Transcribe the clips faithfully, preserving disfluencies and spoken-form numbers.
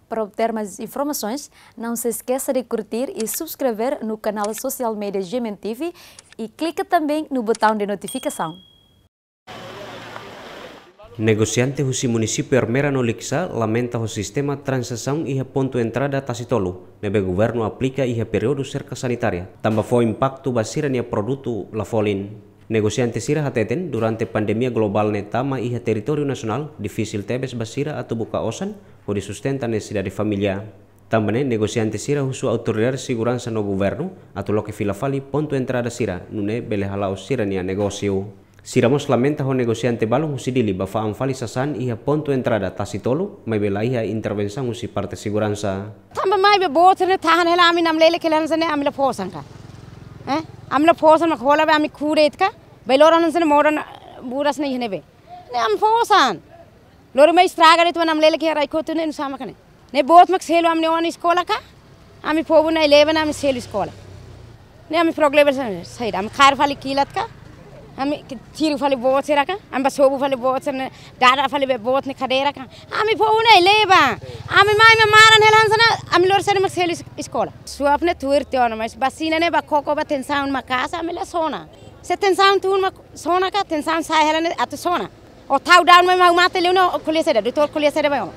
Para obter mais informações, não se esqueça de curtir e subscrever no canal social media G M N T V e clica também no botão de notificação. Negosiante husi munisípiu Ermera no Likisá lamenta ho sistema tranzasaun iha pontu entrada Tasitolu ne'ebé governu aplika iha períodu serka sanitária, tanba fó impaktu ba sira-nia produtu la folin. Negosiante sira hateten, durante pandemia globál ne'e tama iha territóriu nasionál, difisil tebes ba sira atu buka osan hodi sustenta nesesidade família. Tanba ne'e, negosiante sira husu autoridade seguransa no governu atu loke fila fali pontu entrada sira, nune'e bele hala'o sira-nia negósiu. Sira mós lamenta ho negosiante balun husi Dili ba fa'an fali sasán iha pontu entrada Tasitolu, maibé la iha intervensaun husi parte seguransa. Tanba maibé boot sira-ne'e tahan hela ami namlelek hela hanesan ne'e ami la fó osan ka. Eh? Ami la fó osan mak hola be ami kure itka. Be loron hanesan ne'e modan buras ne'e iha ne'ebé. Ne'e ami fó osan. Lori mai estraga de'it mak namlelek iha rai kotu ne'e nusá mak ne'e. Ne'e boot mak selu ami-nia oan eskola ka. Ami povu na'in-lima ne'e ami selu eskola. Ne'e ami problema sa-, saida. Ami kaer fali kilat ka. Ami ke-, tiru fali boot sira ka. Ami bá sobu fali boot sira-ne'e. Dada fali be boot ne'e kadeira ka. Ami povu na'in-lima. Ami mai mak maran hela hanesan ne'e. Ami lori sira mak selu es-, eskola. Suap ne'e tuir tiha ona, mas basina ne'e bá koko ba tensaun maka'as ami la sona. Se tensaun tun mak sona ka, tensaun sa'e hela ne'e atu sona. Ó tau daun mai mak ó mate liu ne'e, ó ko'alia saida, doutór ko'alia saida ba ó.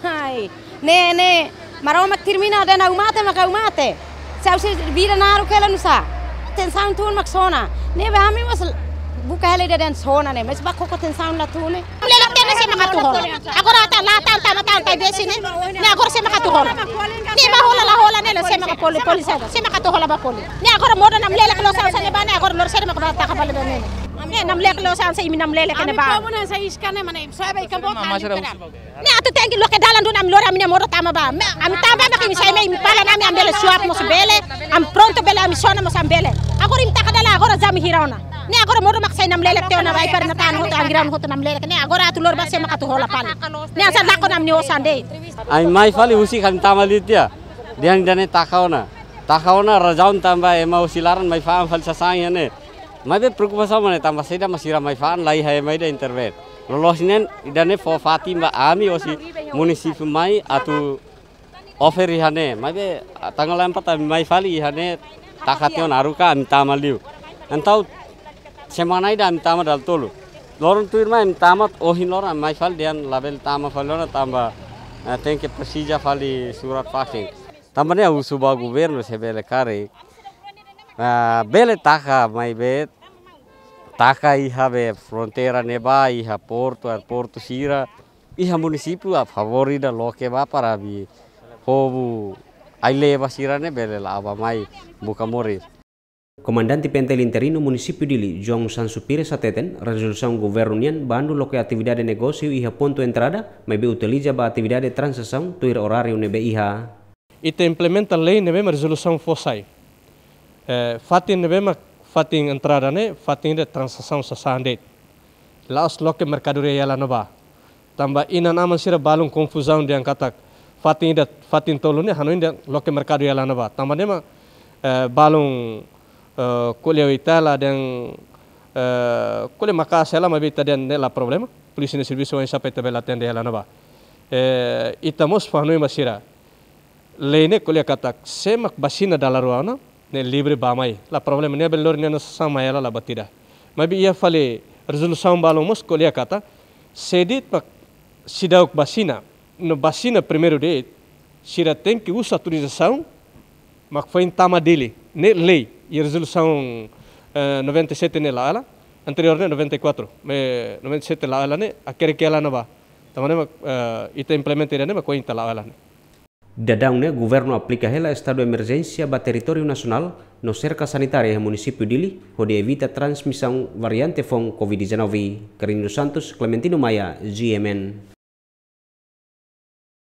Hai, ne'e, ne'e, Maromak termina dehan ó mate mak ó mate. Se ó sei vida naruk hela nusá. Tensaun tun mak sona. Ne'ebé ami mós buka hela ida dehan sona ne'e, mas bá koko tensaun la tun ne'e. Lelek tiha ne'e sé mak atu hola. Agora ita la tan, tan, tan, tan, besi ne'e. Ne'e agora sé mak atu hola. Ne'e bá hola la hola ne'e la sé mak poli, poli saida. Sé mak atu hola ba poli. Ne'e agora modo namlelek loos hanesan ne'e bá ne'e agora lori saida mak bá taka fali ba ne'e. Ne'e namlelek loos hanesan imi namlelek ne'e bá. Ami povu hanesan iska ne'e mak ne'e, soe ba ikan boot hancur ka. Ne'e atu tenke loke dalan duni ami lori ami-nia modo tama ba. Ami tama ba mak imi sai mai imi fala ami, ami bele suap mós bele. Ami prontu bele ami sona mós ami bele. Agora imi taka dalan agora jam hira ona. Ne'e agora modo mak sai namlelek tiha ona ba ai para natan hotu angirnaun hotu namlelek. Ne'e agora atu lori ba sé mak atu hola fali. Ne'e hanesan lakon ami-nia osan de'it. Ami mai fali husik ami tama liu tiha. Dehan ida-ne'e taka ona. Taka ona razaun tanba ema husi laran mai fa'an fali sasán iha ne'e. Maibé preokupasaun mak ne'e tanba saida mak sira mai fa'an la iha ema ida intervén. Loloos ne'e ida-ne'e fó fatin ba ami hosi munisípiu mai atu offer iha ne'e. Maibé tanggal empat ami mai fali iha ne'e taka tiha ona haruka ami tama liu. Entaun semana ida ami tama dala tolu. Loron tuirmai ami tama ohin loron ami mai fali dehan labele tama fali ona tanba, eh, tenke presiza fali surat vaksin. Tanba ne'e husu ba governu se bele karik, ah, bele taka maibé taka iha be fronteira ne'ebá, iha portu, aeroportu sira, iha munisípiu a favór ida loke ba para be povu ai-leba sira-ne'e bele la'o ba mai buka moris. Komandante P N T L interinu munisípiu Dili, João Sancho Pires hateten, rezolusaun governu nian bandu loke atividade negósiu iha pontu entrada, maibé utiliza ba atividade tranzasaun tuir oráriu ne'ebé iha. Ita implementa lei ne'ebé mak rezolusaun fó sai. Eh, fatin ne'ebé mak fatin entrada ne'e, fatin de tranzasaun sasán de'it. La'ós loke merkadoria iha laran ne'ebá. Tanba inan-aman sira balun konfuzaun dehan katak fatin ida, fatin tolu ne'e hanoin dehan loke merkadu iha laran ne'ebá. Tanba ne'e mak, eh, balun, eh, ko'alia ho ita hela dehan, eh, ko'alia maka'as hela maibé ita dehan ne'e la problema. Polísia nia servisu oinsá para ita bele atende iha laran ne'ebá. Eh, ita mós fó-hanoin ba sira. Lei ne'e ko'alia katak sé mak vasina dala rua ona, ne'e livre bá mai. La problema, nia bele lori nia sasán mai hela la buat ida. Maibé iha fali rezolusaun balun mós ko'alia katak, sé de'it mak seidauk vasina, no vasina primeiru de'it, sira tenke uza autorizasaun mak foin tama Dili. Ne'e lei, iha rezolusaun, eh, noventa e sete ne'e la'o hela, anteriór ne'e noventa e quatro, eh, noventa e sete la'o hela ne'e, hakerek iha laran ne'ebá. Tanba ne'e mak, eh, ita implementa ida-ne'e mak ohin ita la'o hela ne'e. Daudaun ne'e, governu aplika hela estadu emerjénsia ba territóriu nasionál no serka sanitária iha munisípiu Dili, hodi evita transmisaun variante foun covid dezanove. Carino Santos, Clementino Maia, G M N.